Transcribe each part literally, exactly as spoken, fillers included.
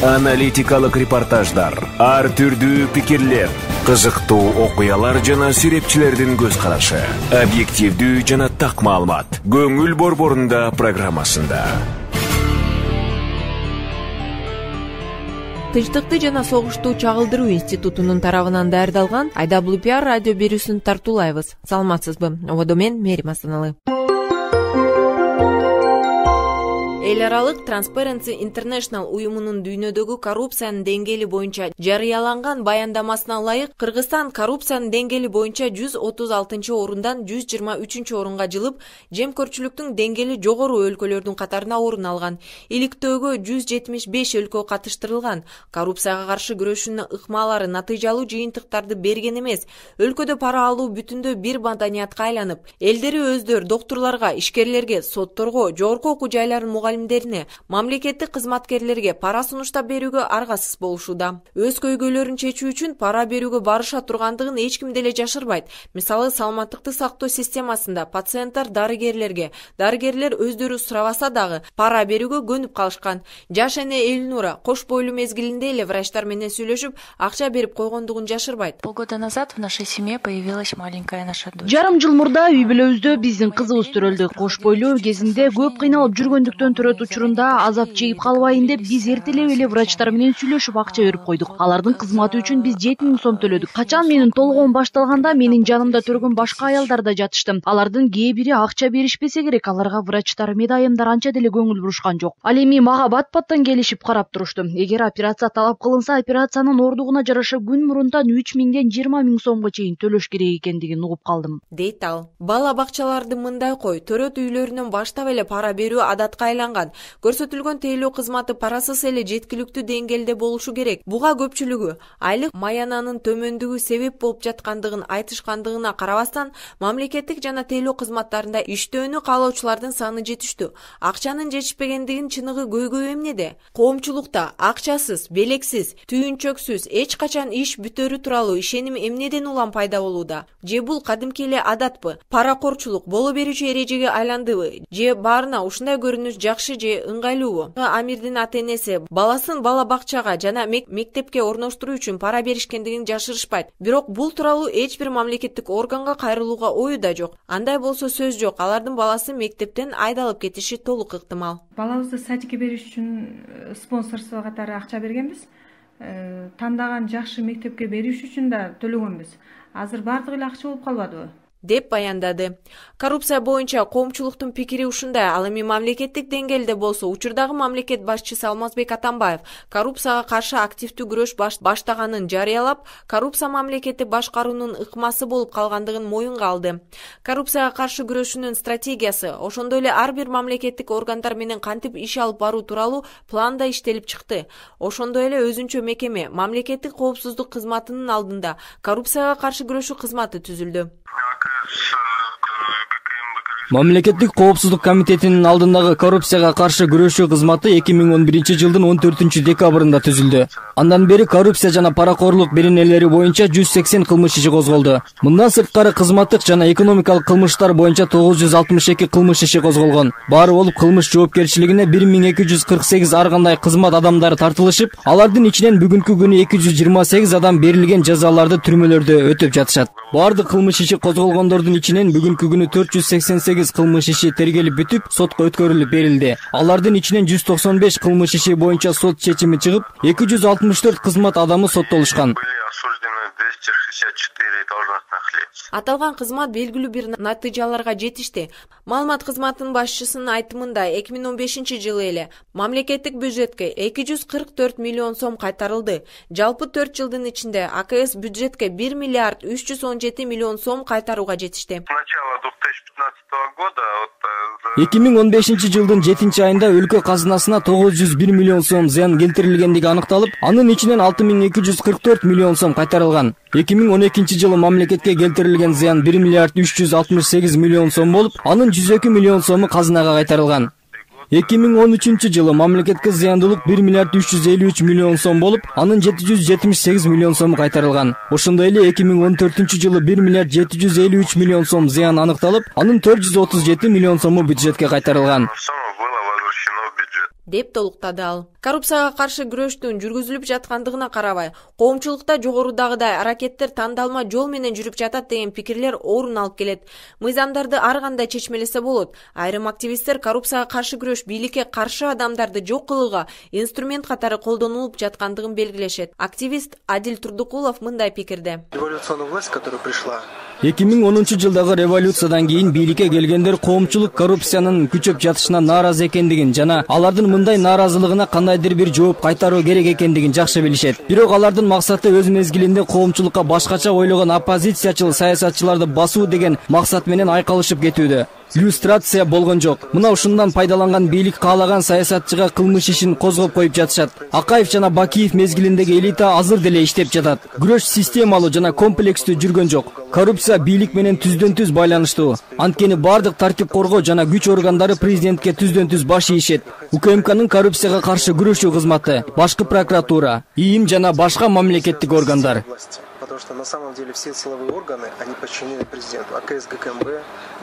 Аналитикалык репортаждар, ар түрдүү пикирлер, кызыктуу окуялар жана сүрөтчүлөрдүн көз карашы, объективдүү жана так маалымат. Көңүл борборунда программасында. Тынчтыкты жана согушту чагылдыруу институтунун тарабынан даярдалган ай дабл ю пи ар радио берүүсүн тартуулайбыз. Саламатсызбы? Ободо мен Мерим Асаналы. Эл аралык Transparency International уюмунун дүйнөдөгү коррупциянын деңгээли боюнча жарыяланган баяндамасына ылайык, Кыргызстан коррупциянын деңгээли боюнча жүз отуз алтынчы орундан жүз жыйырма үчүнчү орунга жылып, жемкөрчүлүктүн деңгээли жогору өлкөлөрдүн катарына орун алган. Иликтөөгө жүз жетимиш беш өлкө катыштырылган. Коррупцияга каршы күрөшүүнүн ыкмалары натыйжалуу жыйынтыктарды берген эмес. Өлкөдө пара алуу бүтүндөй бир маданиятка айланып, элдери өздөрү доктурларга, ишкерлерге, сотторго, жогорку окуу жайларын мугалимдерине, мамлекеттик кызматкерлерге пара сунуштап берүүгө аргасыз болушууда. Өз көйгөйлөрүн чечүү үчүн пара берүүгө барыша тургандыгын эч ким деле жашырбайт. Мисалы, саламаттыкты сактоо системасында пациенттер дарыгерлерге, дарыгерлер өздөрү сурабаса дагы пара берүүгө көнүп калышкан. Жаш эне Элнура кош бойлуу мезгилинде эле врачтар менен сүйлөшүп, акча берип койгондугун жашырбайт. Полгода назад в нашей семье появилась маленькая наша дочь. Жарым жыл мурда үй бүлөбүздө биздин кызыбыз төрөлдү. Кош бойлуу кезинде көп кыйналып жүргөндүктөн төрөт учурунда азап чегип калбайын деп биз эртелеп эле врачтар менен сүйлөшүп акча берип койдук. Алардын кызматы үчүн биз жети миң сом төлөдүк. Качан менин толгоом башталганда менин жанымда төргөн башка аялдар да жатышты. Алардын кээ бири акча беришпесе керек, аларга врачтар, медайымдар анча деле көңүл бурушкан жок. Ал эми мага бат-баттан келишип карап турушту. Эгер операция талап кылынса, операциянын ордугуна жараша күн мурунтан үч миңден жыйырма миң сомго чейин төлөш керек экендигин угуп калдым, дейт ал. Бала бакчаларды мындай кой, төрөт үйлөрүнөн баштап эле пара берүү адатка айланган. Көрсөтүлгөн тейлөө кызматы парасыз эле жеткиликтүү деңгээлде болушу керек. Буга көпчүлүгү айлык маянанын төмөндүгү себеп болуп жаткандыгын айтышкандыгына карабастан, мамлекеттик жана тейлөө кызматтарында иштөөнү каалоочулардын саны жетиштүү. Акчанын жетишпегендигинин чыныгы көйгөй эмнеде? Коомчулукта акчасыз, белексиз, түйүнчөксүз эч качан иш бүтөрү тууралуу ишеним эмнеден улам пайда болууда? Же бул кадимки эле адатпы? Паракорчулук боло берүүчү эрежеге айландыбы? Же баарына ушундай көрүнүш жакшы же ыңгайлуубу? Амирдин ата-энеси баласын бала бакчага жана мектепке орноштуруу үчүн пара беришкендигин жашырышпайт. Бирок бул тууралуу эч бир мамлекеттик органга кайрылууга ою да жок. Андай болсо сөз жок, алардын баласы мектептен айдалып кетиши толук ыктымал. Балабызды садикке бериш үчүн спонсорство катары акча бергенбиз. Тандаган жакшы мектепке бериш үчүн да төлөгөнбүз. Азыр бардыгы эле акча болуп калбадыбы? деп баяндады. Коррупция боюнча коомчулуктун пикири ушундай. Ал эми мамлекеттик деңгээлде болсо, учурдагы мамлекет башчысы Алмазбек Атамбаев коррупцияга каршы активдүү күрөш баштаганын жарыялап, коррупция мамлекетти башкаруунун ыкмасы болуп калгандыгын моюнга алды. Коррупцияга каршы күрөшүүнүн стратегиясы, ошондой эле ар бир мамлекеттик органдар менен кантип иш алып баруу тууралуу план да иштелип чыкты. Ошондой эле өзүнчө мекеме, мамлекеттик коопсуздук кызматынын алдында коррупцияга каршы күрөшүү кызматы түзүлдү. Мамлекеттик коопсуздук комитетинин алдындагы коррупцияга каршы күрөшүү кызматы эки миң он биринчи жылдын он төртүнчү декабрында түзүлдү. Андан бери коррупция жана паракорлук беренелери боюнча жүз сексен кылмыш иши козголду. Мындан сырткары кызматтык жана экономикалык кылмыштар боюнча тогуз жүз алтымыш эки кылмыш иши козголгон. Баары болуп кылмыш жоопкерчилигине бир миң эки жүз кырк сегиз ар кандай кызмат адамдары тартылышып, алардын ичинен бүгүнкү күнү эки жүз жыйырма сегиз адам берилген жазаларды түрмөлөрдө өтөп жатышат. Баардык кылмыш иши козголгондордун ичинен бүгүнкү күнү төрт жүз сексен сегиз кылмыш иши тергелип бүтүп, сотко өткөрүлүп берилди. Алардын ичинен жүз токсон беш кылмыш иши боюнча сот чечими чыгып, эки жүз алтымыш төрт кызмат адамы соттолушкан. Аталган кызмат белгилүү бир натыйжаларга жетишти. Маалымат кызматынын башчысынын айтымында эки миң он бешинчи жылы эле мамлекеттик бюджетке эки жүз кырк төрт миллион сом кайтарылды. Жалпы төрт жылдын ичинде А К С бюджетке бир миллиард үч жүз он жети миллион сом кайтарууга жетишти. эки миң он бешинчи жылдын жетинчи айында өлкө казынасына тогуз жүз бир миллион сом зыян келтирилгендиги аныкталып, анын ичинен алты миң эки жүз кырк төрт миллион сом кайтарылган. эки миң он экинчи жылы мамлекетке келтирилген зыян бир миллиард үч жүз алтымыш сегиз миллион сом болуп, анын жүз эки миллион сому казынага кайтарылган. эки миң он үчүнчү жылы мамлекетке зыяндуулук бир миллиард үч жүз элүү үч миллион сом болуп, анын жети жүз жетимиш сегиз миллион сому кайтарылган. Ошондой эле эки миң он төртүнчү жылы бир миллиард жети жүз элүү үч миллион сом зыян аныкталып, анын төрт жүз отуз жети миллион сому бюджетке кайтарылган. деп толуктады ал. Коррупцияга каршы күрөштүн жүргүзүлүп жаткандыгына карабай, коомчулукта жогорудагыдай аракеттер тандалма жол менен жүрүп жатат деген пикирлер орун алып келет. Мыйзамдарды ар кандай чечмелесе болот. Айрым активисттер коррупцияга каршы күрөш бийликке каршы адамдарды жок кылууга инструмент катары колдонулуп жаткандыгын белгилешет. Активист Адил Турдукулов мындай пикирде. Революционная власть, которая пришла эки миң онунчу жылдагы революциядан кийин бийликке келгендер коомчулук коррупциянын күчөп жатышына нааразы экендигин жана алардын мындай нааразылыгына кандайдыр бир жооп кайтаруу керек экендигин жакшы билишет. Бирок алардын максаты өз мезгилинде коомчулукка башкача ойлогон оппозициячыл саясатчыларды басуу деген максат менен айкалышып кетүүдө. Иллюстрация болгон жок. Мына ушундан пайдаланган бийлик каалаган саясатчыга кылмыш ишин козгоп коюп жатышат. Акаев жана Бакиев мезгилиндеги элита азыр деле иштеп жатат. Күрөш системалуу жана комплекстүү жүргөн жок. Коррупция бийлик менен түздөн түз байланыштуу. Анткени бардык тартип коргоо жана күч органдары президентке түздөн түз баш ийишет. УКМКнын коррупцияга каршы күрөшүү кызматы, башкы прокуратура, ИИМ жана башка мамлекеттик органдар. Потому что на самом деле все силовые органы, они подчинены президенту. АКС, ГКМБ,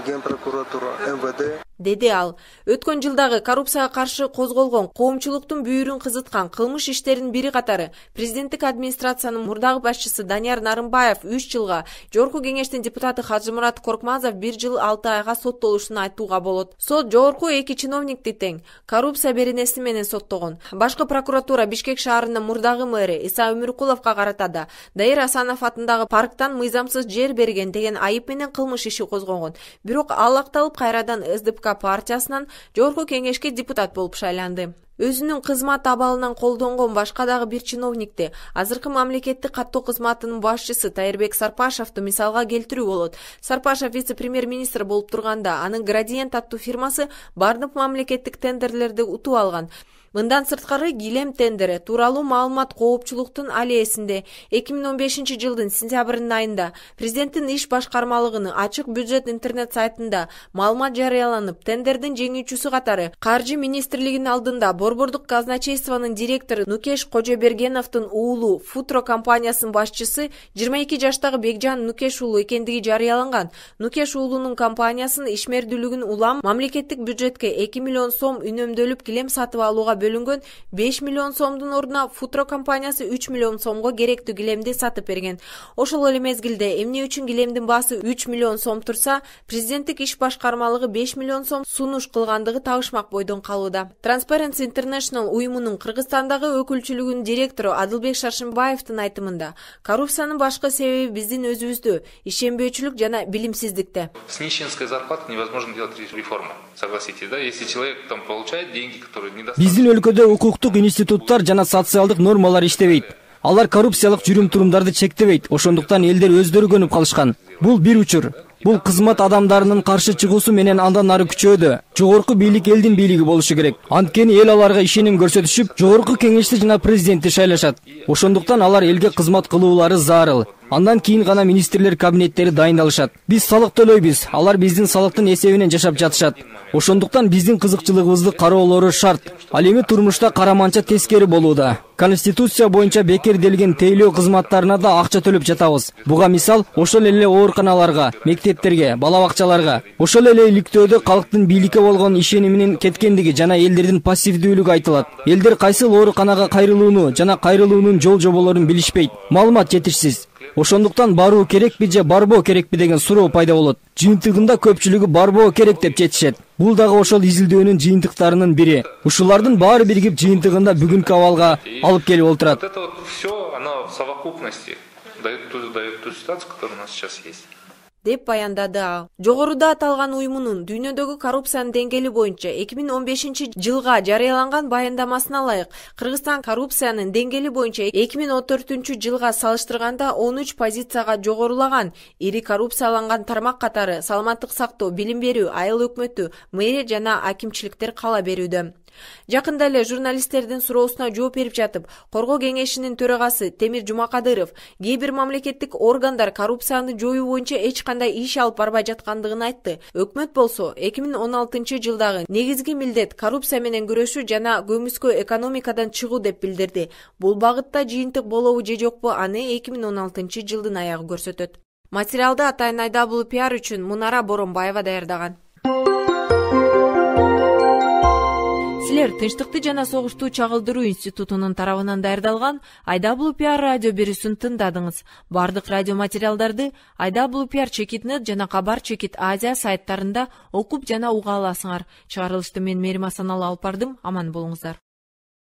Генпрокуратура, МВД. Деди ал. Өткөн жылдагы коррупцияга каршы козголгон коомчулуктун бүйүрүн кызыткан кылмыш иштеринин бири катары президенттик администрациянын мурдагы башчысы Данияр Нарымбаев үч жылга, Жогорку кеңештин депутаты Хажымурат Коркмазов бир жыл алты айга соттолушун айтууга болот. Сот жогорку эки чиновникти тең коррупция беренеси менен соттогон. Башкы прокуратура Бишкек шаарынын мурдагы мэри Иса Өмүркуловго карата да Дайыр Асанов атындагы парктан мыйзамсыз жер берген деген айып менен кылмыш иши козгогон. Бирок ал акталып кайрадан СДПК партиясынан Жогорку кеңешке депутат болуп шайланды. Өзүнүн кызмат абалынан колдонгон башка дагы бир чиновникти азыркы мамлекеттик каттоо кызматынын башчысы Тайырбек Сарпашевду мисалга келтирүү болот. Сарпашев вице-премьер-министр болуп турганда анын Градиент аттуу фирмасы бардык мамлекеттик тендерлерди утуп алган. Мындан сырткары килем тендери тууралуу маалымат коопчулуктун аллеесинде эки миң он бешинчи жылдын сентябрынын айында президенттин иш башкармалыгынын ачык бюджет интернет сайтында маалымат жарыяланып, тендердин жеңүүчүсү катары Каржы министрлигинин алдында Борбордук казначействонун директору Нукеш Кожобергеновдун уулу Футро компаниясынын башчысы жыйырма эки жаштагы Бекжан Нукеш уулу экендиги жарыяланган. Нукеш уулунун компаниясынын ишмердүүлүгүн улам мамлекеттик бюджетке эки миллион сом үнөмдөлүп килем сатып алууга бөлүнгөн беш миллион сомдун ордуна Футро компаниясы үч миллион сомго керектүү килемди сатып берген. Ошол эле мезгилде эмне үчүн килемдин баасы үч миллион сом турса, президенттик иш башкармалыгы беш миллион сом сунуш кылгандыгы табышмак бойдон калууда. Transparency International уюмунун Кыргызстандагы өкүлчүлүгүнүн директору Адылбек Шаршымбаевдин айтымында, коррупциянын башкы себеби биздин өзүбүздө ишенбөөчүлүк жана билимсиздикте. С нищенской зарплаты невозможно делать реформу. Согласитесь, да? Если человек там получает деньги, которые недостаточно. Өлкөдө укуктук институттар жана социалдык нормалар иштебейт. Алар коррупциялык жүрүм-турумдарды чектебейт. Ошондуктан элдер өздөрү көнүп калышкан. Бул бир учур. Бул кызмат адамдарынын каршы чыгуусу менен андан ары күчөөдө. Жогорку бийлик элдин бийлиги болушу керек. Анткени эл аларга ишеним көрсөтүшүп, жогорку кеңешти жана президентти шайлашат. Ошондуктан алар элге кызмат кылуулары зарыл. Андан кийин гана министрлер кабинеттери дайындалышат. Биз салык төлөйбүз. Алар биздин салыктын эсебинен жашап жатышат. Ошондуктан биздин кызыкчылыгыбызды кароолору шарт. Ал эми турмушта караманча тескери болууда. Конституция боюнча бекерделген тейлөө кызматтарына да акча төлөп жатабыз. Буга мисал ошол эле ооруканаларга, мектептерге, бала бакчаларга, ошол эле иликтөөдө калктын бийликке болгон ишениминин кеткендиги жана элдердин пассивдүүлүгү айтылат. Элдер кайсыл ооруканага кайрылууну жана кайрылуунун жол жоболорун билишпейт. Маалымат жетишсиз. Ошондуктан баруу керекпи же барбоо керекпи деген суроо пайда болот. Жыйынтыгында көпчүлүгү барбоо керек деп жетишет. Бул дагы ошол изилдөөнүн жыйынтыктарынын бири. Ушулардын баары биригип жыйынтыгында бүгүнкү абалга алып келип отурат. Вот это вот все, оно в совокупности дает ту, дает ту ситуацию, которая у нас сейчас есть. деп баяндады ал. Жогоруда аталган уюмунун дүйнөдөгү коррупциянын деңгээли боюнча эки миң он бешинчи жылга жарыяланган баяндамасына ылайык Кыргызстан коррупциянын деңгээли боюнча эки миң он төртүнчү жылга салыштырганда он үч позицияга жогорулаган. Ири коррупцияланган тармак катары саламаттык сактоо, билим берүү, айыл өкмөтү, мэрия жана акимчиликтер кала берүүдө. Жакында эле журналисттердин суроосуна жооп берип жатып, Коргоо кеңешинин төрагасы Темир Жумакадыров кээ бир мамлекеттик органдар коррупцияны жоюу боюнча эч кандай иш алып барбай жаткандыгын айтты. Өкмөт болсо эки миң он алтынчы жылдагы негизги милдет коррупция менен күрөшүү жана көмүскө экономикадан чыгуу деп билдирди. Бул багытта жыйынтык болобу же жокпу, аны эки миң он алтынчы жылдын аягы көрсөтөт. Материалды Атайын Айдабулы пиар үчүн Мунара Боронбаева даярдаган. силер Тынчтыкты жана согушту чагылдыруу институтунун тарабынан даярдалган ай дабл ю пи ар радио берүүсүн тыңдадыңыз. Бардык радио материалдарды ай дабл ю пи ар Чекит нет жана Кабар Чекит Азия сайттарында окуп жана уга аласыңар. Чыгарылышты мен Мээрим Асаналы алып бардым. Аман болуңуздар.